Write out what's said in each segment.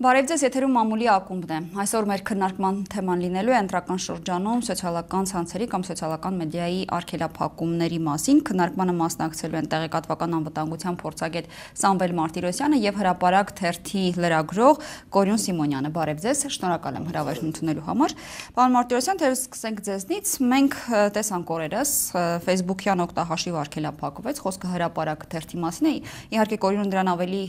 Բարև ձեզ, եթերում մամուլի ակումբն է։ Այսօր մեր քննարկման թեման լինելու է ընտրական շրջանում սոցիալական ցանցերի կամ սոցիալական մեդիայի արգելափակումների մասին։ Քննարկմանը մասնակցելու են տեղեկատվական անվտանգության փորձագետ Սամվել Մարտիրոսյանը եւ հրապարակ թերթի լրագրող Կորյուն Սիմոնյանը։ Բարև ձեզ, շնորհակալ եմ հրավերն ընդունելու համար։ Պարոն Մարտիրոսյան, թերևս սկսենք ձեզնից։ Մենք տեսանք օրերս Facebook-յան օգտահաշիվ արգելափակվեց, խոսքը հրապարակ թերթի մասին է։ Իհարկե Կորյունը դրան ավելի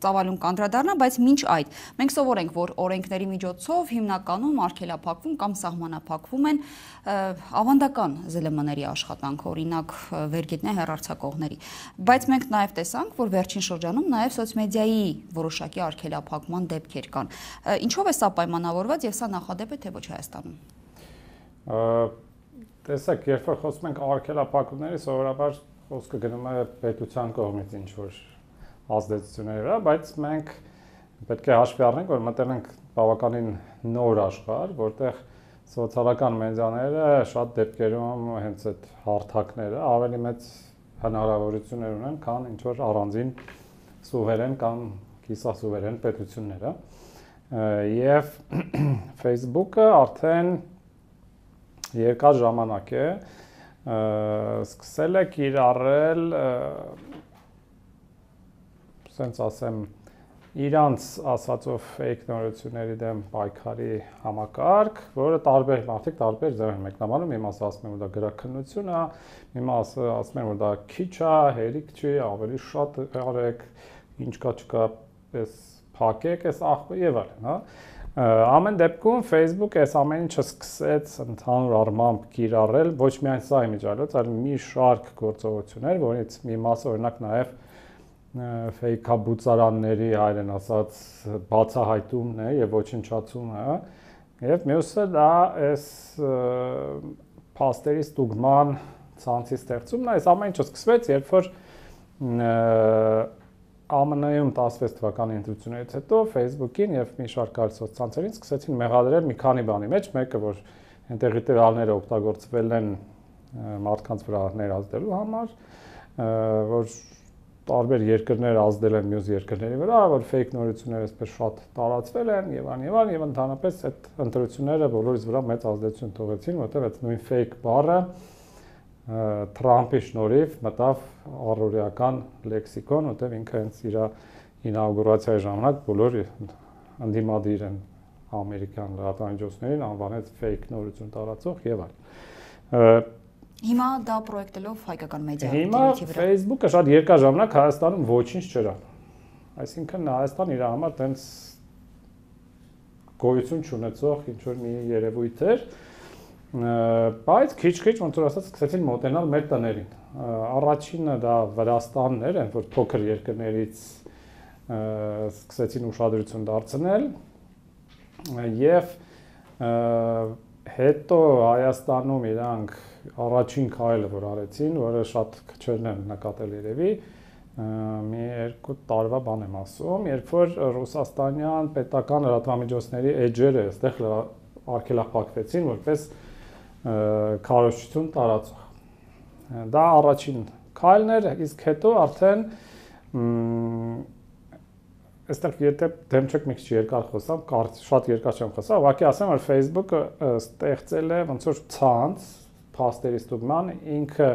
ծավալուն կանդրադառնա, բայց մինչ այդ մենք սովորենք, որ օրենքների միջոցով հիմնականում արգելափակվում կամ սահմանափակվում են ավանդական ԶԼՄ-ների աշխատանք, օրինակ վերգետնյա հեռարձակողների։ Բայց մենք նաև տեսանք, որ վերջին շրջանում նաև սոցմեդիայի որոշակի արգելափակման դեպքեր կան։ Ինչով է սա պայմանավորված եւ սա նախադեպ է թե ոչ Հայաստանում։ Տեսեք, երբ որ խոսում ենք արգելափակումների, սովորաբար խոսքը գնում է պետության կողմից ինչ որ ազդեցությունների վրա, բայց մենք պետք է հաշվի առնենք, որ մտել ենք բավականին նոր աշխարհ, որտեղ սոցիալական մեդիաները շատ դեպքերում հենց այդ հարթակները ավելի մեծ հնարավորություններ ունեն, քան ինչ որ առանձին սուվերեն կամ կիսասուվերեն պետությունները։ Եվ Facebook-ը արդեն երկար ժամանակ է սկսել է կիրառել, ասենց ասեմ, իրանց ասածով fake նորությունների դեմ պայքարի համակարգ, որը տարբեր մարդիկ տարբեր ձև են մեկնաբանում, մի մասը ասում են, որ դա գրաքննություն է, մի մասը ասում են, որ դա քիչ է, հերիք չի, ավելի շատ արեք, ինչ կա չկա, պես փակեք, այս աղբը եւ այլն, հա։ Ամեն դեպքում Facebook այս ամեն ինչը սկսեց ընդհանուր առմամբ կիրառել ոչ միայն սա իմիջիայլոց, այլ մի շարք գործողություններ, որից մի մասը օրինակ նաեւ ֆեյքաբուծարանների հայերեն ասած բացահայտումն է եւ ոչնչացումը, եւ մյուսը դա այս փաստերի ստուգման ցանցի ստեղծումն է, այս ամեն ինչը սկսվեց, երբ որ ԱՄՆ-ում 16 թվականի ընտրություններից հետո Facebook-ին եւ մի շարք այլ սոցցանցերին սկսեցին մեղադրել մի քանի բանի մեջ, մեկը որ այնտեղի տվյալները օգտագործվել են մարդկանց վրա ներազդելու համար, որ տարբեր երկրներ ազդել են մյուս երկրների վրա, որ fake նորությունները այսպես շատ տարածվել են եւ այլն եւ ընդհանրապես այդ ընտրությունները բոլորիս վրա մեծ ազդեցություն թողեցին, որտեղ այդ նույն fake բառը Թրամփի շնորհիվ մտավ առօրեական լեքսիկոն, որտեղ ինքը հենց իր ինաուգուրացիայի ժամանակ բոլոր ընդդիմադիր են ամերիկյան լրատվամիջոցներին անվանեց fake նորություն տարածող եւ այլն։ Հիմա դա պրոյեկտելով հայկական մեդիա Հիմա Facebook-ը շատ երկար ժամանակ Հայաստանում ոչինչ չէր անում։ Այսինքն Հայաստան իր համար տենց գոյություն չունեցող ինչ որ մի երևույթ էր, բայց քիչ-քիչ ոնց որ ասած սկսեցին մոտենալ մեր տներին։ Առաջինը դա Վրաստանն էր, այնպես որ փոքր երկրներից սկսեցին ուշադրություն դարձնել եւ հետո Հայաստանում իրանք առաջին քայլը որ արեցին, որը շատ քչերն են նկատել երևի, մի 2 տարվա բան եմ ասում, երբ որ ռուսաստանյան պետական լրատվամիջոցների էջերը այստեղ արգելափակվեցին որպես քարոզչություն տարածող։ Դա առաջին քայլն էր, իսկ հետո արդեն այստեղ եթե դեմ չեք մի քիչ երկար խոսամ, շատ երկար չեմ խոսա, ուղղակի ասեմ, որ Facebook-ը ստեղծել է ոնց որ ցանց փաստերի ստուգման, ինքը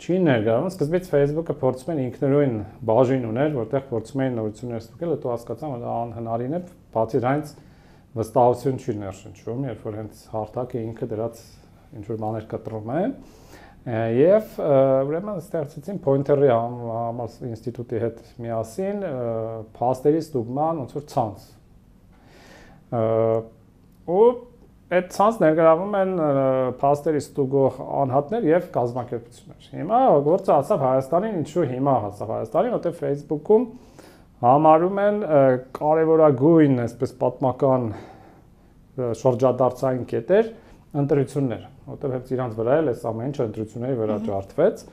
չի ներգրավում, սկզբից Facebook-ը փորձում են ինքնուրույն բաժին ուներ, որտեղ փորձում էին նորություններ ստուգել, հետո հասկացան, որ դա անհնարին է, բացի դրանից վստահություն չի ներշնչում, երբ որ հենց հարթակը ինքը դրած ինչ որ բաներ կտրում է, եւ ուրեմն ստեղծեցին Pointer-ի ինստիտուտի հետ միասին փաստերի ստուգման ոնց որ ցանց։ Ու այդ ցանց ներգրավում են փաստերի ստուգող անհատներ եւ կազմակերպություններ։ Հիմա գործը հասավ Հայաստանին, ինչու հիմա հասավ Հայաստանին, որտեղ Facebook-ում համարում են կարևորագույն, այսպես պատմական շրջադարձային կետեր ընտրությունները, որտեղ հենց իրանց վրա էլ էս ամեն ինչը ընտրությունների վրա ջարդվեց։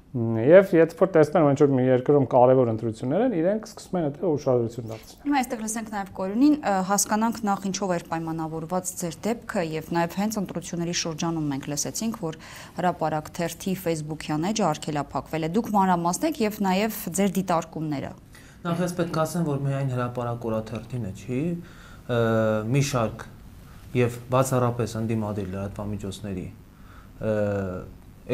Եվ եթե որ տեսնեն, որ ինչ-որ մի երկրում կարևոր ընտրություններ են, իրենք սկսում են այդտեղ ուշադրություն դարձնել։ Հիմա այստեղ լսենք նաև Կորյունին, հասկանանք նախ ինչով էր պայմանավորված ձեր դեպքը եւ նաև հենց ընտրությունների շրջանում մենք լսեցինք, որ հրապարակ թերթի Facebook-յան էջը արգելափակվել է։ Դուք մանրամասնեք եւ նաև ձեր դիտարկումները։ Նախ ես պետք է ասեմ, որ միայն հրապարակ օրաթերթին է, չի, մի շարք եւ բացառապես ընդդիմադիր լրատվամիջոցների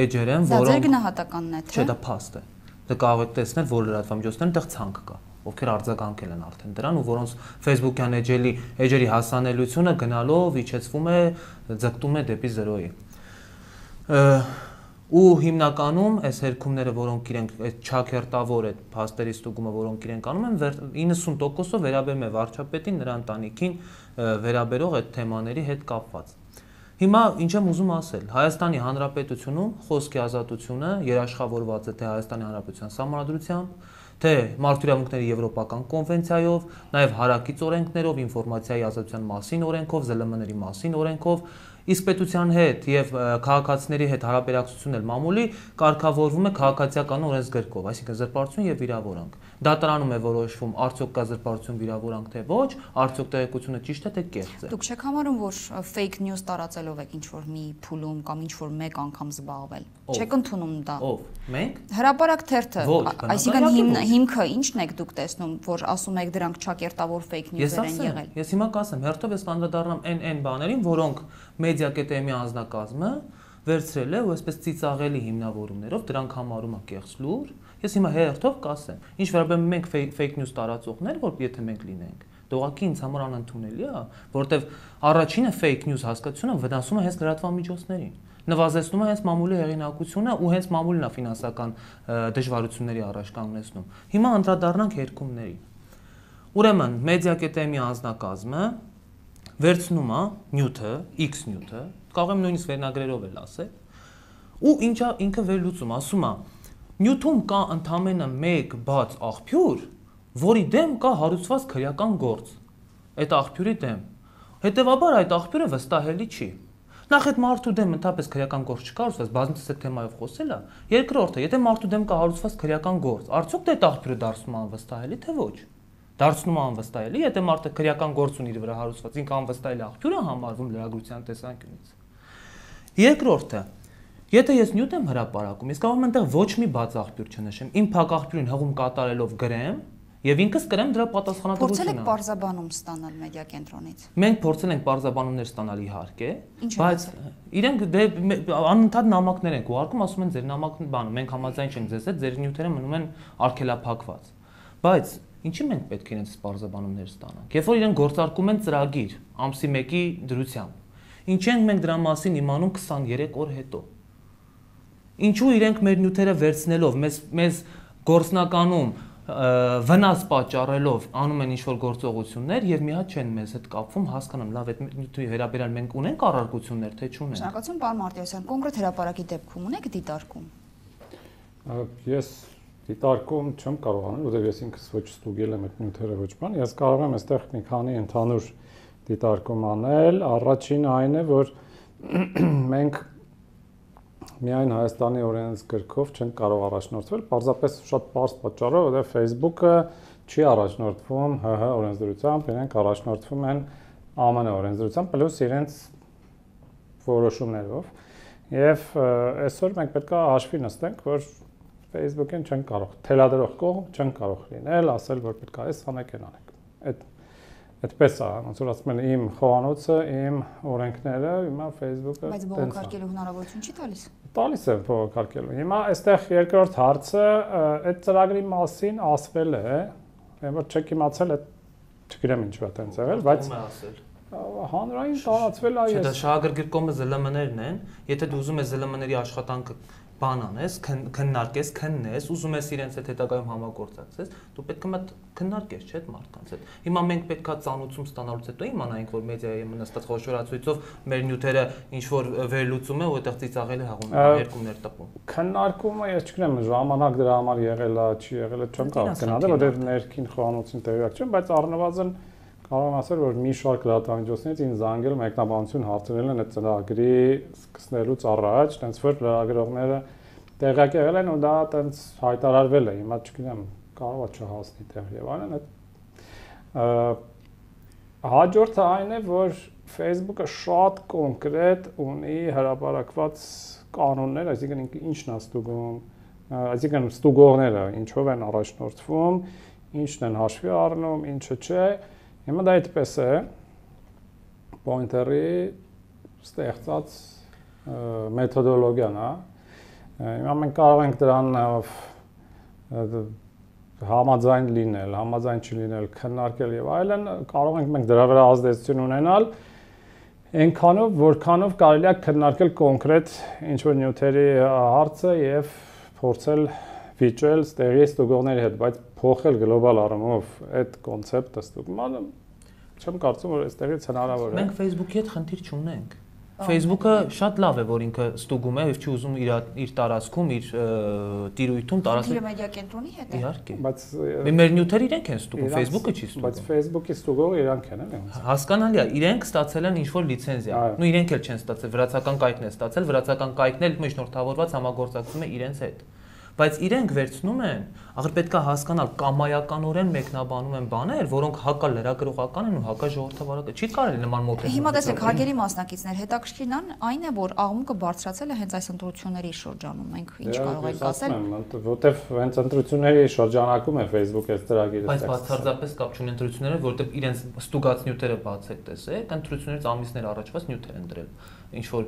էջեր են, որոնք Դա ձեր գնահատականն է, թե? Չէ, դա փաստ է։ Դե կարող եք տեսնել, որ լրատվամիջոցներն այդտեղ ցանկ կա, ովքեր արձագանքել են արդեն դրան ու որոնց Facebook-յան էջերի հասանելիությունը գնալով իջեցվում է, ձգտում է դեպի 0-ի։ Ու հիմնականում այս հերքումները, որոնք իրենք այդ չակերտավոր այդ փաստերի ստուգումը, որոնք իրենք անում են, 90%-ով վերաբերում է վարչապետին, նրա ընտանիքին վերաբերող այդ թեմաների հետ կապված։ Հիմա ինչ եմ ուզում ասել, Հայաստանի Հանրապետությունում խոսքի ազատությունը երաշխավորված է թե Հայաստանի Հանրապետության Սահմանադրությամբ, թե Մարդու իրավունքների Եվրոպական կոնվենցիայով, նաև հարակից օրենքներով, ինֆորմացիայի ազատության մասին օրենքով, ԶԼՄ-ների մասին օրենքով, իսկ պետության հետ եւ քաղաքացիների հետ հարաբերակցությունն էլ մամուլի կարգավորվում է քաղաքացիական օրենսգրքով, այսինքն զրպարտություն եւ վիրավորանք։ Դատարանում է որոշվում արդյոք կա զրպարտություն վիրավորանք թե ոչ, արդյոք տեղեկությունը ճիշտ է թե կեղծ է։ Դուք չեք համարում, որ fake news տարածելով եք ինչ-որ մի փուլում կամ ինչ-որ մեկ անգամ զբաղվել։ Չեք ընդունում դա։ Ով։ Մենք։ Հրապարակ թերթը, այսինքն հիմքը ի՞նչն եք դուք տեսնում, որ ասում եք դրանք չակերտավոր fake news-եր են եղել։ Ես հիմա կասեմ, հերթով ես կանդրադառնամ այն բաներին, որոնք Մեդիա-կետեմի անձնակազմը վերցրել է ու այսպես ծիծաղելի հիմնավորումներով դրանք համարում է կեղծ լուր։ Ես հիմա հերթով կասեմ, ինչ վերաբերում մենք fake news տարածողներ, որ եթե մենք լինենք, դողակի ինձ համար անընդունելի է, որովհետև առաջինը fake news հասկացությունը վնասում է հենց լրատվամիջոցներին, նվազեցնում է հենց մամուլի հեղինակությունը ու հենց մամուլն է ֆինանսական դժվարությունների առաջ կանգնեցնում։ Հիմա անդրադառնանք հերքումներին։ Ուրեմն Մեդիա-կետեմի անձնակազմը վերցնում է նյութը, X նյութը, կարող եմ նույնիսկ վերնագրերով էլ ասել, ու ինչա ինքը վերլուծում, ասում է, նյութում կա ընդամենը մեկ բաց աղբյուր, որի դեմ կա հարուցված քրեական գործ, այդ աղբյուրի դեմ, հետևաբար այդ աղբյուրը վստահելի չի։ Նախ այդ մարդու դեմ ընդհանրապես քրեական գործ չկա, ասես բազմիցս այդ թեմայով խոսել է, երկրորդը, եթե մարդու դեմ կա հարուցված քրեական գործ, արդյոք դա այդ աղբյուրը դարձնում է անվստահելի թե ոչ։ Դարձնում է անվստահելի, եթե մարդը քրեական գործ ունի իր վրա հարուցված, ինքը անվստահելի աղբյուր է համարվում լրագրության տեսանկյունից։ Երկրորդը, եթե ես նյութ եմ հրապարակում, ես կարող եմ այնտեղ ոչ մի բաց աղբյուր չնշեմ, իմ փակ աղբյուրին հղում կատարելով գրեմ եւ ինքս կրեմ դրա պատասխանատվությունը։ Փորձել եք պարզաբանում ստանալ մեդիա կենտրոնից։ Մենք փորձել ենք պարզաբանումներ ստանալ իհարկե, բայց իրենք անընդհատ նամակներ են ուղարկում, ասում են ձեր նամակն բանը, մենք համաձայն չենք ձեզ հետ, ձեր նյութերը մնում են արգելափակված։ Բայց ինչի մենք պետք է իրենց պարզաբանումներ ստանանք։ Երբ որ իրենք գործարկում են ծրագիր ամսի 1-ի դրությամբ, ինչի ենք մենք դրա մասին իմանում 23 օր հետո։ Ինչու իրենք մեր նյութերը վերցնելով մեզ գործնականում վնաս պատճառելով անում են ինչ-որ գործողություններ եւ մի հատ չեն մեզ հետ կապվում, հասկանամ, լավ, այդ նյութի վերաբերյալ մենք ունենք առարկություններ, թե չունենք։ Շնորհակալություն, պարոն Մարտիրոսյան, կոնկրետ հրապարակի դեպքում ունեք դիտարկում։ Ես դիտարկում չեմ կարող անել, որովհետեւ ես ինքս ոչ ստուգել եմ այդ նյութերը ոչ բան, ես կարող եմ այստեղ մի քանի ընդհանուր դիտարկում անել։ Առաջինը այն է, որ մենք միայն Հայաստանի օրենսգրքով չեն կարող առաջնորդվել, պարզապես շատ պարզ պատճառով, որովհետև Facebook-ը չի առաջնորդվում ՀՀ օրենսդրությամբ, իրենք առաջնորդվում են ԱՄՆ օրենսդրությամբ, պլյուս իրենց որոշումներով։ Եվ այսօր մենք պետք է հաշվի նստենք, որ Facebook-ին չեն կարող, թելադրող կողմ չեն կարող լինել, ասել, որ պետք է այս անեք, այն անեք։ Այդպես է, ոնց որ ասում են իմ խոհանոցը, իմ օրենքները, հիմա Facebook-ը բայց բողոքարկելու հնարավորություն չի տալիս։ Տալիս է բողոքարկելու։ Հիմա այստեղ երկրորդ հարցը այդ ծրագրի մասին ասվել է, որ չեք իմացել, չգիտեմ ինչու է այդպես եղել, բայց հանրային տարածվել է։ Չէ, դա շահագրգռկոմը ԶԼՄ-ներն են, եթե դու ուզում ես ԶԼՄ-ների աշխատանքը բան անես, քննարկես, քննես, ուզում ես իրենց հետ հետագայում համագործակցես, դու պետք է քննարկես, չէ՞, այդ մարդկանց հետ։ Հիմա մենք պետքա ծանուցում ստանալուց հետո իմանայինք, որ մեդիայի մնացած խոշորացույցով մեր նյութերը ինչ որ վերլուծում է ու այդտեղ ծիծաղել է հաղում երկումներ տպում։ Քննարկումը ես չգիտեմ, ժամանակ դրա համար եղել է, չի եղել է, չեմ կարող գնալ, որովհետև ներքին խոհանոցին տեղյակ չեմ, բայց առնվազն կարող եմ ասել, որ մի շարք լրատվամիջոցներից ինձ զանգել մեկնաբանություն հարցրել են այդ ծրագրի սկսնելուց առաջ, տենց որ լրագրողները տեղյակ եղել են ու դա տենց հայտարարվել է, հիմա չգիտեմ, կարող է չհասնի տեղ եւ այլն։ Հաջորդը այն է, որ Facebook-ը շատ կոնկրետ ունի հրապարակված կանոններ, այսինքն ինչն է ստուգում, այսինքն ստուգողները ինչով են առաջնորդվում ինչն են հաշվի առնում, ինչը չէ։ Հիմա դա այդպես է։ Pointer-ի ստեղծած մեթոդոլոգիան, հա։ Հիմա մենք կարող ենք դրան համաձայն լինել, համաձայն չլինել, քննարկել եւ այլն, կարող ենք մենք դրա վրա ազդեցություն ունենալ այնքանով, որքանով կարելի է քննարկել կոնկրետ ինչ-որ նյութերի հարցը եւ փորձել վիճել ստեղի ստուգողների հետ, բայց փոխել գլոբալ առումով այդ կոնցեպտը ստուգմանը չեմ կարծում, որ այստեղից հնարավոր է։ Մենք Facebook-ի հետ խնդիր չունենք։ Facebook-ը շատ լավ է, որ ինքը ստուգում է եւ չի ուզում իր տարածքում, իր տիրույթում տարածել։ Իր մեդիա կենտրոնի հետ է։ Իհարկե։ Բայց մեր նյութերը իրենք են ստուգում, Facebook-ը չի ստուգում։ Բայց Facebook-ի ստուգողը իրանք են, էլի։ Հասկանալի է, իրենք ստացել են ինչ-որ լիցենզիա։ Նու իրենք էլ չեն ստացել, վրացական կայքն է ստացել, վրացական կայքն էլ միջնորդավորված համագործակցում է իրենց հետ։ Բայց իրենք վերցնում են, ախր պետք է հասկանալ կամայականորեն մեկնաբանում են բաներ, որոնք հակա լրագրողական են ու հակա ժողովրդավարական։ Չի կարելի նման մոտեցնել։ Հիմա տեսեք, հարգելի մասնակիցներ, հետաքրքիրն այն է, որ աղմուկը բարձրացել է հենց այս ընտրությունների շրջանում։ Մենք ինչ կարող ենք ասել։ Որտեվ հենց ընտրությունների շրջանակում է Facebook-ը այս ծրագիրը։ Բայց բացարձակապես կապ չունի ընտրությունները, որտեվ իրենց ստուգած նյութերը բացեք, տեսեք, ընտրություններից ամիսներ առաջված նյութեր են դրել։ Ինչ որ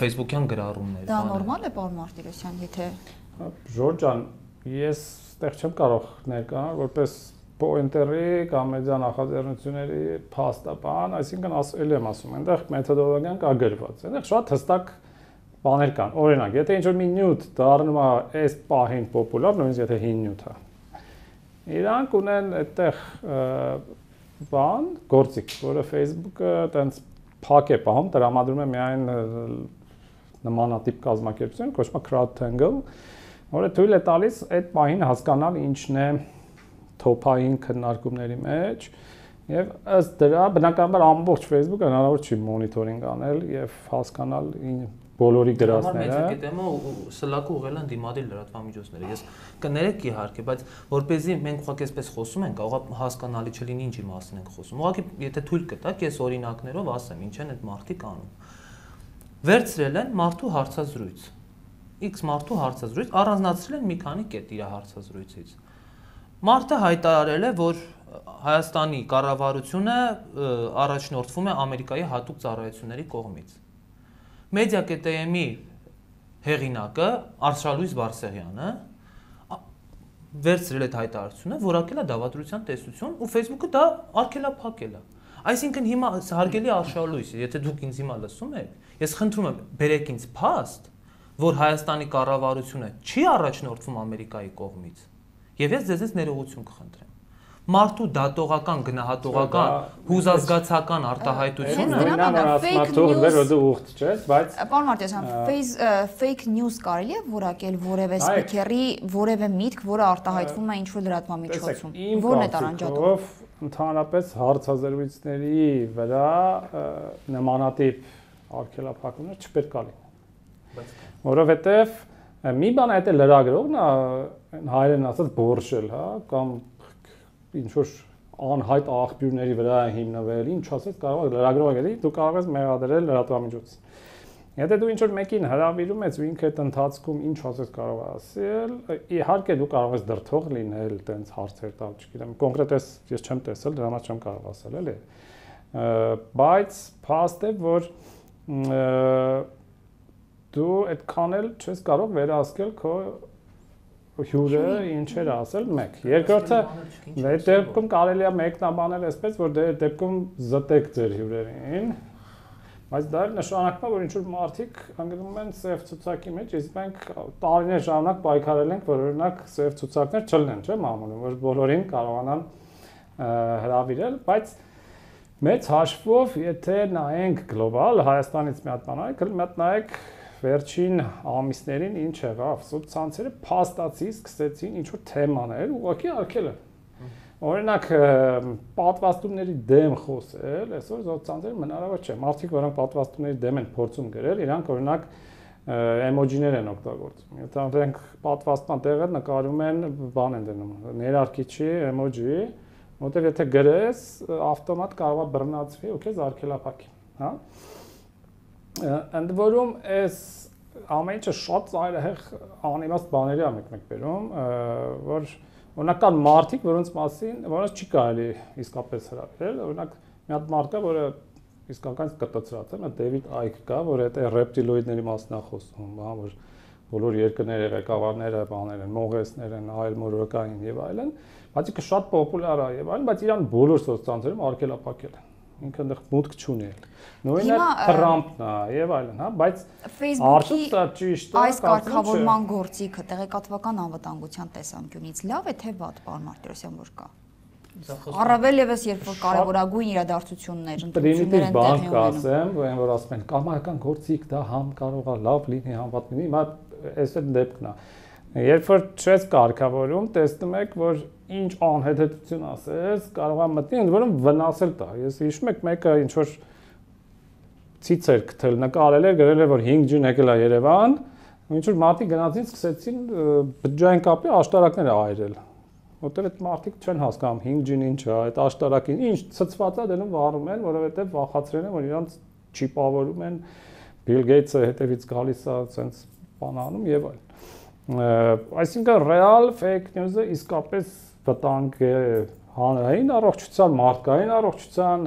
Facebook-յան գրառումներ։ Դա նորմալ է, պարոն Մարտիրոսյան, եթե Ժորժ ջան, ես այդտեղ չեմ կարող ներկայանալ որպես Pointer-ի կամ մեդիա նախաձեռնությունների փաստաբան, այսինքն ասել եմ ասում, այնտեղ մեթոդոլոգիան կա գրված։ Այնտեղ շատ հստակ բաներ կան։ Օրինակ, եթե ինչ-որ մի նյութ դառնում է այս պահին պոպուլար, նույնիսկ եթե հին նյութ է, իրանք ունեն այդտեղ բան, գործիք, որը Facebook-ը տենց փակ է պահում, տրամադրում է միայն նմանատիպ կազմակերպություն, կոչվում է CrowdTangle, որը թույլ է տալիս այդ պահին հասկանալ ինչն է top-ային քննարկումների մեջ եւ ըստ դրա բնականաբար ամբողջ Facebook-ը հնարավոր չի մոնիտորինգ անել եւ հասկանալ բոլորի գրածները։ Մեծ գիտեմը սլակը ուղղել են դիմադիր լրատվամիջոցները։ Ես կներեք իհարկե, բայց որպեսզի մենք ուղղակի այսպես խոսում ենք, կարող է հասկանալի չլինի ինչի մասին ենք խոսում։ Ուղղակի եթե թույլ կտաք, ես օրինակներով ասեմ, ինչ են այդ մարդիկ անում։ Վերցրել են մարդու հարցազրույց։ X մարդու հարցազրույց առանձնացրել են մի քանի կետ իր հարցազրույցից։ Մարդը հայտարարել է, որ Հայաստանի կառավարությունը առաջնորդվում է Ամերիկայի հատուկ ծառայությունների կողմից։ Media.am-ի հեղինակը Արշալույս Բարսեղյանը վերցրել այդ հայտարարությունը, որակել է դավադրության տեսություն ու Facebook-ը դա արգելափակել է։ Այսինքն հիմա հարգելի Արշալույս, եթե դուք ինձ հիմա լսում եք, ես խնդրում եմ բերեք ինձ փաստ, որ Հայաստանի կառավարությունը չի առաջնորդվում Ամերիկայի կողմից, եւ ես ձեզնից ներողություն կխնդրեմ։ Մարդու դատողական, գնահատողական, հուզազգացական արտահայտությունը Պարոն Մարտիրոսյան, fake news կարելի է որակել որևէ սպիքերի որևէ միտք, որը արտահայտվում է ինչ-որ լրատվամիջոցում։ Որն է տարանջատում։ Ընդհանրապես հարցազրույցների վրա նմանատիպ արգելափակումներ չպետք է լինեն։ Որովհետև մի բան այդ է լրագրողն է հայերեն ասած բորշել, հա, կամ ինչ որ անհայտ աղբյուրների վրա հիմնվել, ինչ ասես կարող է լրագրողը գիտի, դու կարող ես մեղադրել լրատվամիջոց։ Եթե դու ինչ որ մեկին հրավիրում ես ու ինքը այդ ընթացքում ինչ ասես կարող է ասել, իհարկե դու կարող ես դրթող լինել, տենց հարցեր տալ, չգիտեմ, կոնկրետ ես չեմ տեսել, դրա համար չեմ կարող ասել, էլի։ Բայց փաստ է, որ դու այդքան էլ չես կարող վերահսկել քո հյուրը ինչեր ասել մեկ։ Երկրորդը այդ դեպքում կարելի է մեկնաբանել այսպես, որ դե դեպքում զտեք ձեր հյուրերին, բայց դա նշանակում է, որ ինչ որ մարդիկ ընկնում են սև ցուցակի մեջ, իսկ մենք տարիներ ժամանակ պայքարել ենք, որ օրինակ սև ցուցակներ չլինեն, չէ՞, մամուլում, որ բոլորին կարողանան հրավիրել, բայց մեծ հաշվով, եթե նայենք գլոբալ Հայաստանից մի հատ բան արեք, մի հատ նայեք վերջին ամիսներին ինչ եղավ, սոցցանցերը փաստացի սկսեցին ինչ-որ թեմաներ ուղղակի արգելը։ Օրինակ պատվաստումների դեմ խոսել, այսօր սոցցանցերը հնարավոր չէ։ Մարդիկ, որոնք պատվաստումների դեմ են փորձում գրել, իրանք օրինակ էմոջիներ են օգտագործում։ Եթե դրանք պատվաստման տեղը նկարում են, բան են դնում, ներարկիչի էմոջի, որտեղ եթե գրես, ավտոմատ կարող է բռնացվի ու քեզ արգելափակի, հա։ Ընդ որում այս ամեն ինչը շատ ծայրահեղ անիմաստ բաների է մեկ-մեկ բերում, որ Օրինակ կան մարդիկ, որոնց չի կարելի իսկապես հրավիրել, օրինակ մի հատ մարդ կա, որը իսկական կտծրած է, Դեվիդ Այք կա, որ այդ ռեպտիլոիդների մասին է խոսում, հա, որ բոլոր երկրների ղեկավարները բաներ են, մողեսներ են, այլ մորոկային եւ այլն, բայց ինքը շատ պոպուլյար է եւ այլն, բայց իրան բոլոր սոցցանցերում արգելափակել են։ Ինքը այնտեղ մուտք չունի։ Նույնը Թրամփն է եւ այլն, հա, բայց Facebook-ի ճիշտ է, այս կարգավորման գործիքը տեղեկատվական անվտանգության տեսանկյունից լավ է թե վատ, պարոն Մարտիրոսյան, որ կա։ Առավել եւս երբ որ կարևորագույն իրադարձություններ ընտրություններ են տեղի ունենում, որ ասում են կամայական գործիք դա համ կարող է լավ լինի, համ վատ լինի, հիմա այս է դեպքն է։ Երբ որ չես կարգավորում, տեսնում եք, որ ինչ անհեթեթություն ասես, կարող է մտնի, ընդ որում վնասել տա։ Ես հիշում եք մեկը ինչ որ ցիցեր գտել, նկարել էր, գրել էր, որ 5G-ն եկել է Երևան, ինչ որ մարդիկ գնացին, սկսեցին բջջային կապի աշտարակներ այրել։ Որտեղ այդ մարդիկ չեն հասկանում 5G-ն ինչ է, այդ աշտարակին ինչ ցծված է դնում վառում են, որովհետև վախացրել են, որ իրանց չիպավորում են, Bill Gates-ը հետևից գալիս է, sense բան անում եւ այլն։ Այսինքն ռեալ fake news-ը իսկապես վտանգ է հանրային առողջության, մարդկային առողջության,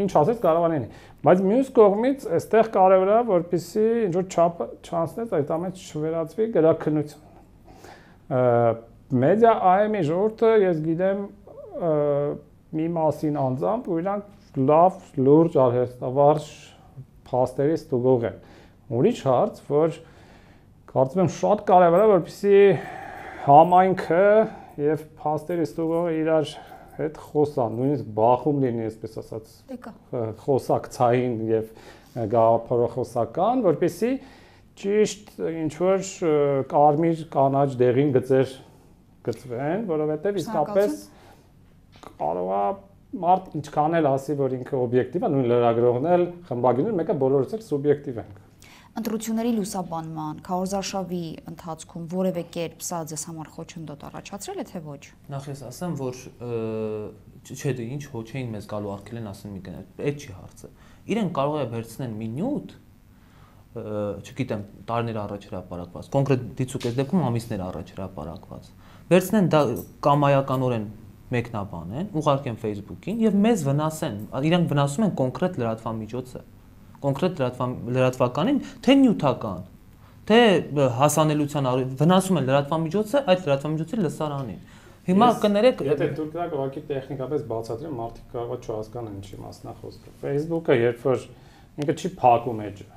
ինչ ասես կարող է լինի։ Բայց մյուս կողմից այստեղ կարևոր է, որպեսզի ինչ որ չափը չանցնես, այդ ամենը չվերածվի գրաքննության։ Մեդիա IM-ի ժողովուրդը ես գիտեմ մի մասին անձամբ, ու իրանք լավ, լուրջ, արհեստավարժ փաստերի ստուգող են։ Ուրիշ հարց, որ կարծում եմ շատ կարևոր է, որպեսզի համայնքը եւ փաստերի ստուգողը իրար հետ խոսան, նույնիսկ բախում լինի, այսպես ասած, խոսակցային եւ գաղափարախոսական, որպեսզի ճիշտ ինչ որ կարմիր կանաչ դեղին գծեր գծվեն, որովհետեւ իսկապես կարող է մարդ ինչքան էլ ասի, որ ինքը օբյեկտիվ է, նույն լրագրողն էլ, խմբագիրները, մեկը բոլորից էլ սուբյեկտիվ են։ Ընտրությունների լուսաբանման, քարոզարշավի ընթացքում որևէ կերպ սա ձեզ համար խոչընդոտ առաջացրել է թե ոչ։ Նախ ես ասեմ, որ չէ, դե ինչ հոչեին մեզ գալու արկել են ասեն մի կներ, այդ չի հարցը։ Իրեն կարող է վերցնեն մի նյութ, չգիտեմ, տարիներ առաջ հրապարակված, կոնկրետ դիցուկ այս դեպքում ամիսներ առաջ հրապարակված։ Վերցնեն դա կամայականորեն մեկնաբանեն, ուղարկեն Facebook-ին եւ մեզ վնասեն, իրանք վնասում են կոնկրետ լրատվամիջոցը, կոնկրետ լրատվականին, թե նյութական, թե հասանելիության վնասում են լրատվամիջոցը, այդ լրատվամիջոցի լսարանին։ Հիմա կներեք, եթե դուք դա ուղղակի տեխնիկապես բացատրեմ, մարդիկ կարող է չհասկանան ինչի մասն է խոսքը։ Facebook-ը երբ որ ինքը չի փակում էջը,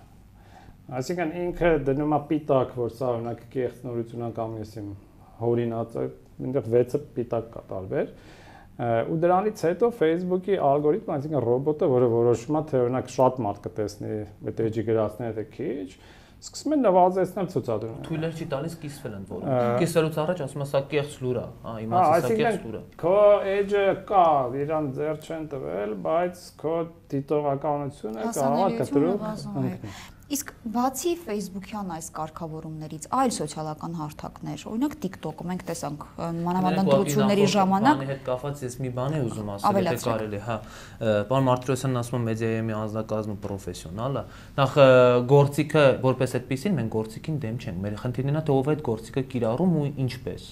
այսինքն ինքը դնում է պիտակ, որ սա օրինակ կեղծ նորություն է կամ ես իմ հորինած է, այնտեղ 6-ը պիտակ կա տարբեր, ու դրանից հետո Facebook-ի ալգորիթմը, այսինքն ռոբոտը, որը որոշում է, թե օրինակ շատ մարդ կտեսնի այդ էջի գրածները, թե քիչ, սկսում են նվազեցնել ցուցադրումը։ Թույլեր չի տալիս կիսվել ընդ որում։ Կիսելուց առաջ ասում է սա կեղծ լուր է, իմացի սա կեղծ լուր է։ Քո էջը կա, իրան ձեռ չեն տվել, բայց քո դիտողականությունը կարող է կտրուկ ընկնել։ Իսկ բացի Facebook-յան այս կարգավորումներից, այլ սոցիալական հարթակներ, օրինակ TikTok-ը մենք տեսանք մանավանդ ընտրությունների ժամանակ։ Բանի հետ կապված ես մի բան եմ ուզում ասել, եթե կարելի, հա, պարոն Մարտիրոսյանն ասում է մեդիայի անձնակազմը պրոֆեսիոնալ է։ Նախ գործիքը որպես այդպեսին մենք գործիքին դեմ չենք։ Մեր խնդիրն է թե ով է այդ գործիքը կիրառում ու ինչպես։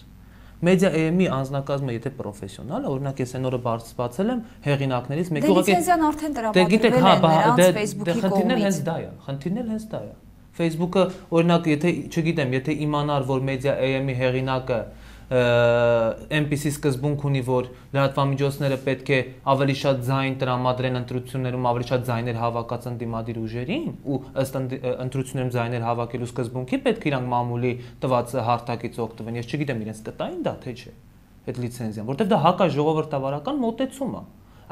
Մեդիա AM-ի անձնակազմը եթե պրոֆեսիոնալ է, օրինակ ես այն օրը բացել եմ հեղինակներից մեկի ուղղակի լիցենզիան արդեն տրամադրվել է նրանց Facebook-ի կողմից։ Խնդիրն էլ հենց դա է։ Facebook-ը օրինակ եթե, չգիտեմ, եթե իմանար, որ մեդիա AM-ի հեղինակը այնպիսի սկզբունք ունի, որ լրատվամիջոցները պետք է ավելի շատ ձայն տրամադրեն ընտրություններում, ավելի շատ ձայներ հավաքած ընդդիմադիր ուժերին ու ըստ ընտրություններում ձայներ հավաքելու սկզբունքի պետք է իրանք մամուլի տված հարթակից օգտվեն։ Ես չգիտեմ իրենց կտային դա թե չէ, այդ լիցենզիան, որտեղ դա հակաժողովրդավարական մոտեցում է։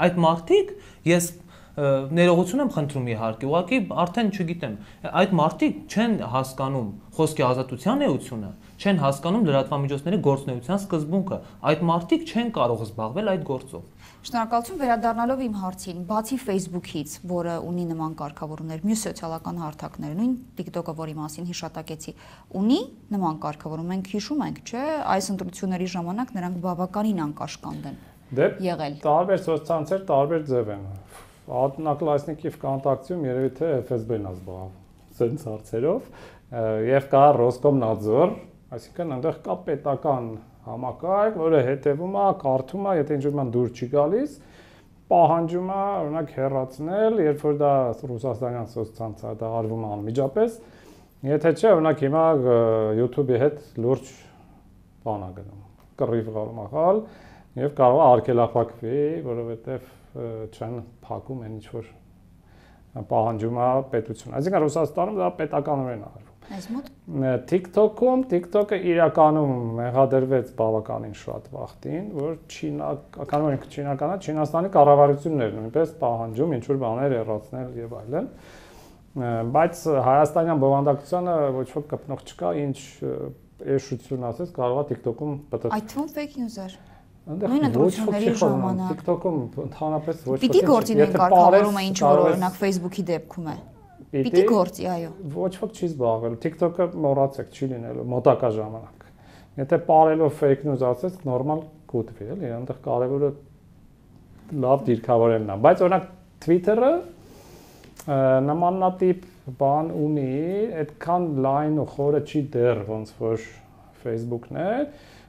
Այդ մարդիկ ես ներողություն եմ խնդրում իհարկե, ուղղակի արդեն չգիտեմ, այդ մարդիկ չեն հասկանում խոսքի ազատության էությունը, չեն հասկանում լրատվամիջոցների գործունեության սկզբունքը, այդ մարդիկ չեն կարող զբաղվել այդ գործով։ Շնորհակալություն, վերադառնալով իմ հարցին, բացի Facebook-ից, որը ունի նման կարգավորումներ, մյուս սոցիալական հարթակները, նույն TikTok-ը, որի մասին հիշատակեցի, ունի նման կարգավորում, մենք հիշում ենք, չէ, այս ընտրությունների ժամանակ նրանք բավականին անկաշկանդ են եղել։ Տարբեր սոցցանցեր տարբեր ձև են։ Одноклассники ВКонтакте-ում երևի թե FSB-ն է զբաղվում սենց հարցերով, եւ կա Ռոսկոմնadzor, այսինքն այնտեղ կա պետական համակարգ, որը հետևում է, կարդում է, եթե ինչ-որ դուր չի գալիս, պահանջում է օրինակ հեռացնել, երբ որ դա ռուսաստանյան սոցցանցը դա արվում է անմիջապես, եթե չէ, օրինակ հիմա YouTube-ի հետ լուրջ բան է գնում, կռիվ գալու մախալ եւ կարող է արգելափակվի, որովհետեւ չեն փակում այն ինչ որ պահանջում է պետությունը։ Այսինքն Ռուսաստանում դա պետականորեն է արվում։ Այս մոտ TikTok-ում TikTok-ը իրականում մեղադրվեց բավականին շատ վաղտին, որ չինականը Չինաստանի կառավարություններն նույնպես պահանջում ինչ որ բաներ հեռացնել եւ այլն, բայց հայաստանյան բովանդակությանը ոչ ոք կպնող չկա, ինչ էշություն ասես, կարող է TikTok-ում պատտել։ այդ թվում fake news-եր։ Այնտեղ Նույն ընտրությունների ժամանակ TikTok-ում ընդհանրապես ոչ ոք պիտի գործի նույն կարգավորումը, ինչ որ օրինակ Facebook-ի դեպքում է։ Պիտի գործի, այո։ Ոչ ոք չի զբաղվել։ TikTok-ը մոռացեք, չի լինելու մոտակա ժամանակ։ Եթե parallel fake news ասես, նորմալ կուտվի, էլի, այնտեղ կարևորը լավ դիրքավորելն է։ Բայց օրինակ Twitter-ը նմանատիպ բան ունի, այդքան լայն ու խորը չի դեռ ոնց որ Facebook-ն է,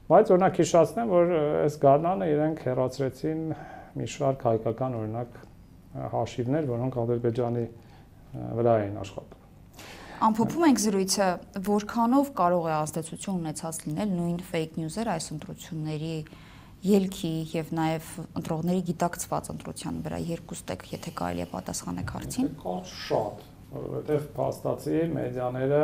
բայց օրինակ հիշեցնեմ, որ այս գարնանը իրենք հեռացրեցին մի շարք հայկական օրինակ հաշիվներ, որոնք Ադրբեջանի վրա էին աշխատում։ Ամփոփում ենք զրույցը, որքանով կարող է ազդեցություն ունեցած լինել նույն fake news-երը այս ընտրությունների ելքի եւ նաեւ ընտրողների գիտակցված ընտրության վրա երկուստ եք, եթե կարելի է պատասխանեք հարցին։ Շատ, որովհետեւ փաստացի մեդիաները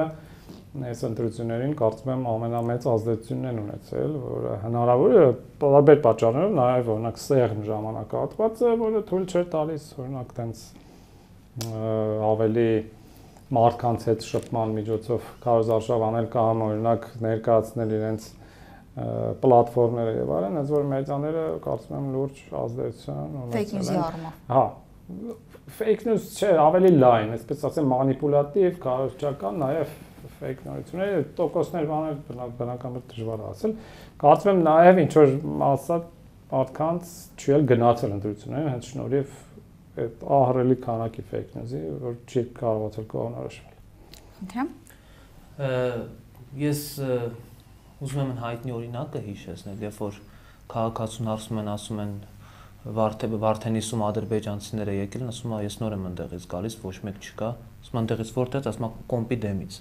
այս ընտրություններին կարծում եմ ամենամեծ ազդեցությունն են ունեցել, որը հնարավոր է տարբեր պատճառներով, նաեւ օրինակ սեղմ ժամանակահատվածը, որը թույլ չէր տալիս օրինակ տենց ավելի մարդկանց հետ շփման միջոցով կարողացավ անել կամ օրինակ ներկայացնել իրենց պլատֆորմները եւ այլն, այնց որ մեդիաները կարծում եմ լուրջ ազդեցություն ունեցել են։ Fake news-ի առումով։ Հա, fake news չէ, ավելի լայն, այսպես ասեմ, մանիպուլատիվ, կարողական, նաեւ fake նորությունները, տոկոսներ բաներ բնականաբար դժվար է ասել։ Կարծում եմ նաեւ ինչ որ ասած մարդկանց չի էլ գնացել ընտրություններին, հենց շնորհիվ այդ ահռելի քանակի fake news-ի, որ չի կարողացել կողմնորոշվել։ Խնդրեմ։ Ես ուզում եմ հայտնի օրինակը հիշեցնել, երբ որ քաղաքացուն ասում են Վարդենիսում ադրբեջանցիները եկել են, ասում են ես նոր եմ ընդեղից գալիս, ոչ մեկ չկա, ասում են ընդեղից որտեղից, ասում են կոմպի դեմից։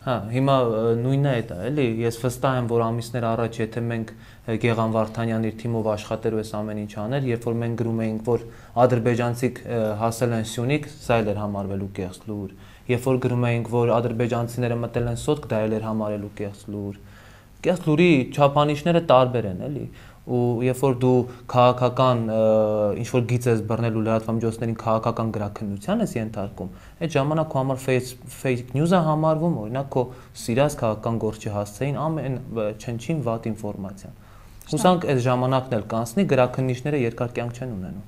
Հա, հիմա նույնն է դա, էլի, ես վստահ եմ, որ ամիսներ առաջ եթե մենք Գեգամ Վարդանյանն իր թիմով աշխատեր ու այս ամեն ինչ աներ, երբ որ մենք գրում էինք, որ ադրբեջանցիք հասել են Սյունիք, սա էլ էր համարվելու կեղծ լուր։ Երբ որ գրում էինք, որ ադրբեջանցիները մտել են Սոտք, դա էլ էր համարելու կեղծ լուր։ Կեղծ լուրի չափանիշները տարբեր են, էլի։ Ու երբ որ դու քաղաքական ինչ որ գիծ ես բռնել ու լրատվամիջոցներին քաղաքական գրաքննության ես ենթարկում, այդ ժամանակ քո համար fake news-ը համարվում, օրինակ քո սիրած քաղաքական գործի հասցեին ամեն չնչին վատ ինֆորմացիան։ Հուսանք այս ժամանակն էլ կանցնի, գրաքննիչները երկար կյանք չեն ունենում։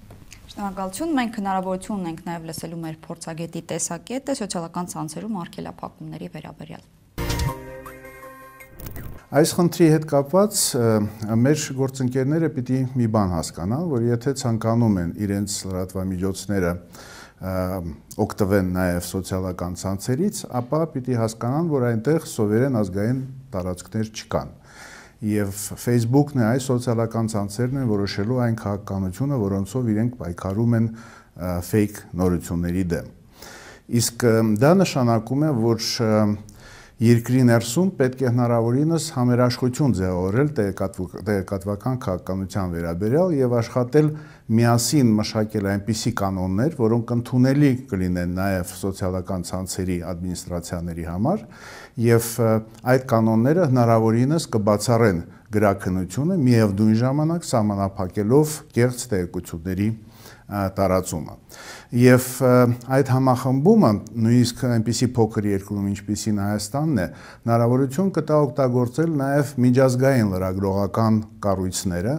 Շնորհակալություն, մենք հնարավորություն ունենք նաև լսելու մեր փորձագետի տեսակետը սոցիալական ցանցերում արգելափակումների վերաբերյալ։ Այս խնդրի հետ կապված մեր գործընկերները պիտի մի բան հասկանան, որ եթե ցանկանում են իրենց լրատվամիջոցները օգտվեն նաև սոցիալական ցանցերից, ապա պիտի հասկանան, որ այնտեղ սովորեն ազգային տարածքներ չկան։ Եվ Facebook-ն է այս սոցիալական ցանցերն են որոշելու այն քաղաքականությունը, որոնցով իրենք պայքարում են fake նորությունների դեմ։ Իսկ դա նշանակում է, որ երկրի ներսում պետք է հնարավորինս համերաշխություն ձևավորել տեղեկատվական քաղաքականության վերաբերյալ եւ աշխատել միասին մշակել այնպիսի կանոններ, որոնք ընդունելի կլինեն նաեւ սոցիալական ցանցերի ադմինիստրացիաների համար եւ այդ կանոնները հնարավորինս կբացառեն գրաքննությունը միևնույն ժամանակ սահմանափակելով կեղծ տեղեկությունների տարածումը։ Եվ այդ համախմբումը նույնիսկ այնպիսի փոքր երկրում ինչպիսին Հայաստանն է, հնարավորություն կտա օգտագործել նաև միջազգային լրագրողական կառույցները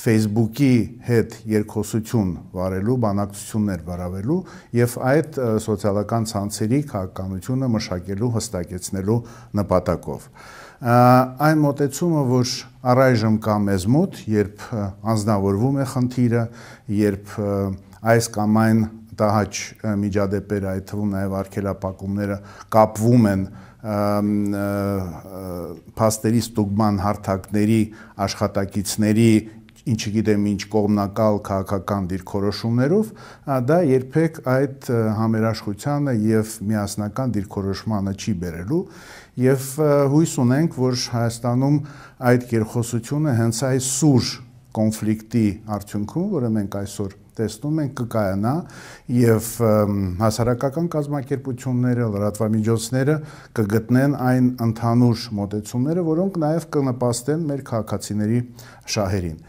Facebook-ի հետ երկխոսություն վարելու, բանակցություններ վարավելու եւ այդ սոցիալական ցանցերի քաղաքականությունը մշակելու, հստակեցնելու նպատակով։ Այն մոտեցումը, որ առայժմ կա մեզ մոտ, երբ անձնավորվում է խնդիրը, երբ այս կամ այն տհաճ միջադեպերը, այդ թվում նաև արգելափակումները կապվում են փաստերի ստուգման հարթակների աշխատակիցների ինչի գիտեմ ինչ կողմնակալ քաղաքական դիրքորոշումներով, դա երբեք այդ համերաշխությանը եւ միասնական դիրքորոշմանը չի բերելու եւ հույս ունենք, որ Հայաստանում այդ երկխոսությունը հենց այս սուր կոնֆլիկտի արդյունքում, որը մենք այսօր տեսնում ենք, կկայանա եւ հասարակական կազմակերպությունները, լրատվամիջոցները կգտնեն այն ընդհանուր մոտեցումները, որոնք նաեւ կնպաստեն մեր քաղաքացիների շահերին։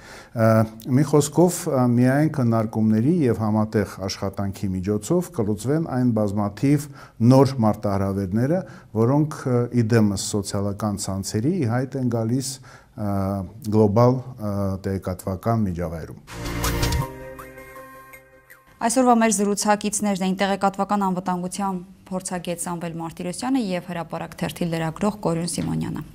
Մի խոսքով միայն քննարկումների եւ համատեղ աշխատանքի միջոցով կլուծվեն այն բազմաթիվ նոր մարտահրավերները, որոնք իդեմս սոցիալական ցանցերի ի հայտ են գալիս գլոբալ տեղեկատվական միջավայրում։ Այսօրվա մեր զրուցակիցներն էին տեղեկատվական անվտանգության փորձագետ Սամվել Մարտիրոսյանը եւ հրապարակ թերթի լրագրող Կորյուն Սիմոնյանը։